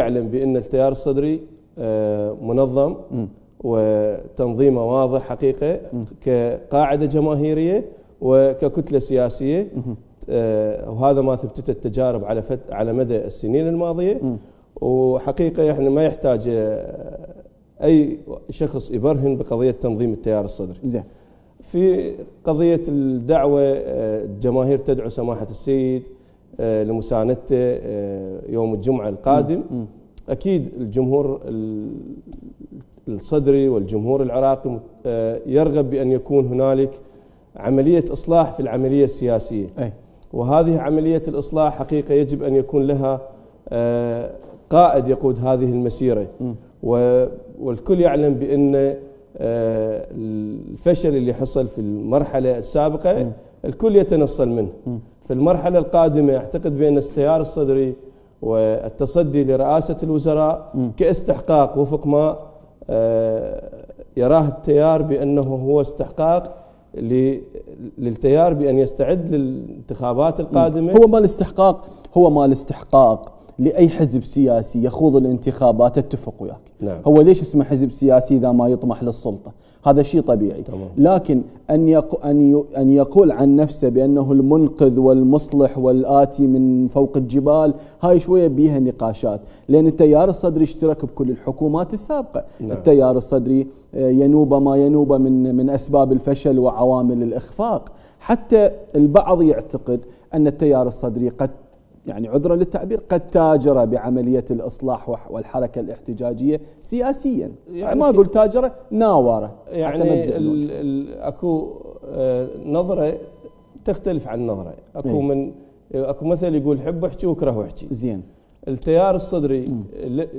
يعلم بأن التيار الصدري منظم وتنظيمه واضح حقيقة كقاعدة جماهيرية وككتلة سياسية، وهذا ما ثبتته التجارب على مدى السنين الماضية. وحقيقة يعني ما يحتاج أي شخص يبرهن بقضية تنظيم التيار الصدري. زين. في قضية الدعوة، الجماهير تدعو سماحة السيد لمساندته يوم الجمعة القادم. أكيد الجمهور الصدري والجمهور العراقي يرغب بأن يكون هنالك عملية إصلاح في العملية السياسية، وهذه عملية الإصلاح حقيقة يجب أن يكون لها قائد يقود هذه المسيرة. والكل يعلم بأن الفشل اللي حصل في المرحلة السابقة الكل يتنصل منه. في المرحلة القادمة أعتقد بأن التيار الصدري والتصدي لرئاسة الوزراء كاستحقاق وفق ما يراه التيار بأنه هو استحقاق للتيار بأن يستعد للانتخابات القادمة. هو ما الاستحقاق لأي حزب سياسي يخوض الانتخابات. اتفق وياك. نعم. هو ليش اسمه حزب سياسي إذا ما يطمح للسلطة؟ هذا شيء طبيعي. طبعا. لكن أن يقول عن نفسه بأنه المنقذ والمصلح والآتي من فوق الجبال، هاي شوية بيها نقاشات، لأن التيار الصدري اشترك بكل الحكومات السابقة. نعم. التيار الصدري ينوب ما ينوب من أسباب الفشل وعوامل الإخفاق. حتى البعض يعتقد أن التيار الصدري قد، يعني عذرا للتعبير، قد تاجر بعملية الإصلاح والحركة الاحتجاجية سياسيا. يعني ما أقول تاجر، ناوره. يعني أكو نظرة تختلف عن نظرة. أكو مثل يقول حب احكي وكره احكي. زين. التيار الصدري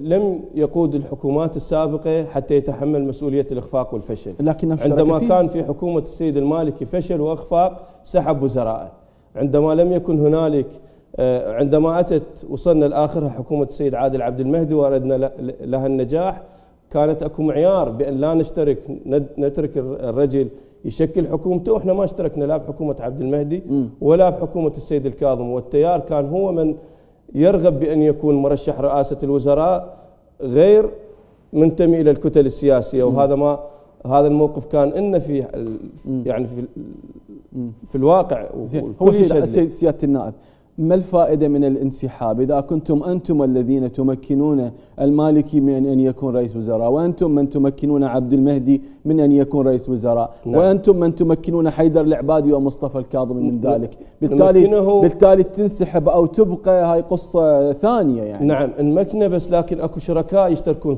لم يقود الحكومات السابقة حتى يتحمل مسؤولية الإخفاق والفشل. عندما كان في حكومة السيد المالكي فشل وإخفاق سحب وزراءه. عندما لم يكن هنالك، عندما وصلنا لآخرها حكومة السيد عادل عبد المهدي وأردنا لها النجاح، كانت أكو معيار بأن لا نترك الرجل يشكل حكومته، وإحنا ما اشتركنا لا بحكومة عبد المهدي ولا بحكومة السيد الكاظم. والتيار كان هو من يرغب بأن يكون مرشح رئاسة الوزراء غير منتمي إلى الكتل السياسية. وهذا هذا الموقف كان إن في يعني في الواقع. هو سيادة النائب، ما الفائدة من الانسحاب إذا كنتم أنتم الذين تمكنون المالكي من أن يكون رئيس وزراء، وأنتم من تمكنون عبد المهدي من أن يكون رئيس وزراء؟ نعم. وأنتم من تمكنون حيدر العبادي ومصطفى الكاظم من ذلك. بالتالي تنسحب أو تبقى، هاي قصة ثانية يعني. نعم نمكنه، بس لكن أكو شركاء يشتركون